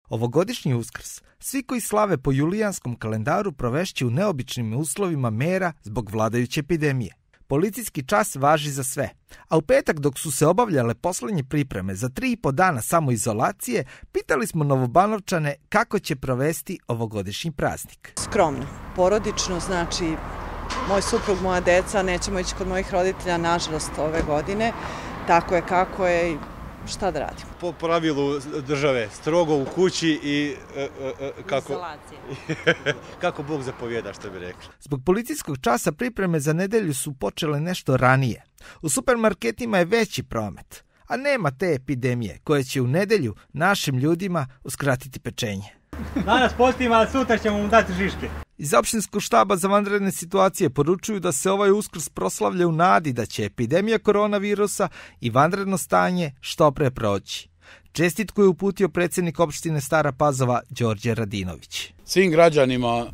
Ovogodišnji Uskrs svi koji slave po julijanskom kalendaru provešći u neobičnim uslovima mera zbog vladajuće epidemije. Policijski čas važi za sve, a u petak dok su se obavljale poslednje pripreme za 3,5 dana samoizolacije, pitali smo Novobanovčane kako će provesti ovogodišnji praznik. Skromno, porodično, znači moj suprug, moja deca, nećemo ići kod mojih roditelja, nažalost, ove godine. Tako je kako je i šta da radimo. Po pravilu države, strogo u kući i kako Bog zapovjeda, što bi rekli. Zbog policijskog časa pripreme za nedelju su počele nešto ranije. U supermarketima je veći promet, a nema te epidemije koja će u nedelju našim ljudima uskratiti pečenje. Danas postima, a sutra ćemo mu dati žiške. Iz opštinskog štaba za vanredne situacije poručuju da se ovaj Uskrs proslavlja u nadi da će epidemija koronavirusa i vanredno stanje što pre proći. Čestitku je uputio predsjednik opštine Stara Pazova Đorđe Radinović. Svim građanima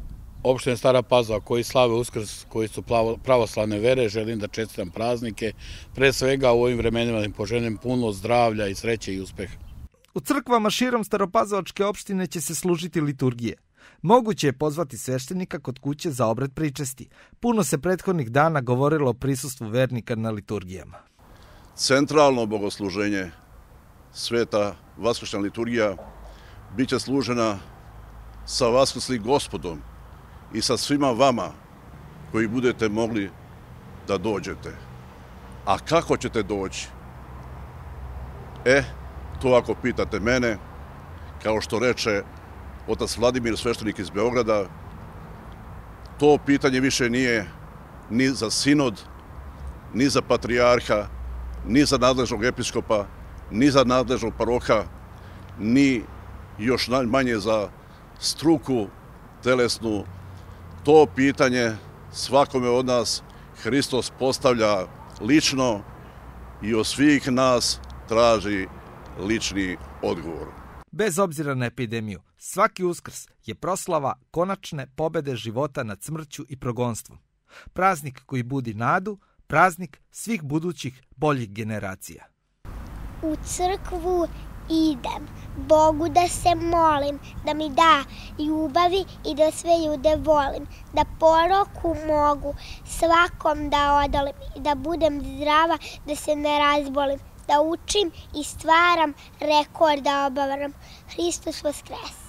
opštine Stara Pazova koji slave Uskrs, koji su pravoslavne vere, želim da čestitam praznike. Pre svega u ovim vremenima da im poželim puno zdravlja i sreće i uspeha. U crkvama širom Staropazovačke opštine će se služiti liturgije. Moguće je pozvati sveštenika kod kuće za obred pričesti. Puno se prethodnih dana govorilo o prisustvu vernika na liturgijama. Centralno bogosluženje, sveta vaskršnja liturgija, bit će služena sa vaskrslim Gospodom i sa svima vama koji budete mogli da dođete. A kako ćete doći? To ako pitate mene, kao što reče otac Vladimir, sveštenik iz Beograda, to pitanje više nije ni za sinod, ni za patrijarha, ni za nadležnog episkopa, ni za nadležnog paroha, ni još manje za struku telesnu. To pitanje svakome od nas Hristos postavlja lično i od svih nas traži lični odgovor. Bez obzira na epidemiju, svaki Uskrs je proslava konačne pobede života nad smrću i progonstvom. Praznik koji budi nadu, praznik svih budućih boljih generacija. U crkvu idem, Bogu da se molim, da mi da ljubavi i da sve ljude volim, da poroku mogu svakom da odolim i da budem zdrava, da se ne razbolim, da učim i stvaram, rekord da obavaram. Hristos Voskres!